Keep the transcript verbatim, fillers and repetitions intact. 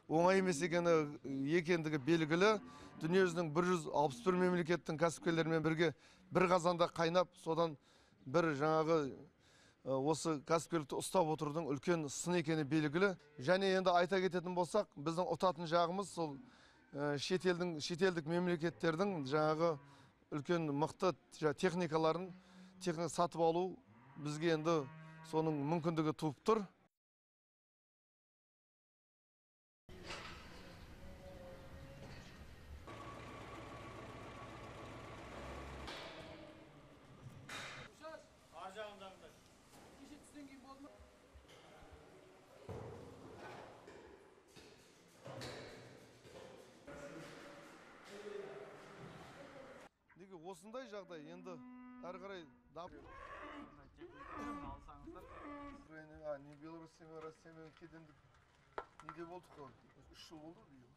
оңай емес екені екендігі белгілі. Дүниежүзінің бір жүз алпыс бір мемлекеттің кәсіпкерлерімен бірге бір қазанда қайнап, содан бір жаңағы осы кәсіпкерлікті ұстап отырудың үлкен сын екені белгілі. Және енді айта кететін болсақ, біздің ұтатын жағымыз сол шетелдің шетелдік мемлекеттердің жаңағы үлкен мықты техникаларын техника сатып алу бізге енді соның мүмкіндігі туып тұр. Неге осындай жағдай енді әрі қарай дамып не Беларусьтен Россиямен кедендік неде болдық қой, үш жыл болды биыл.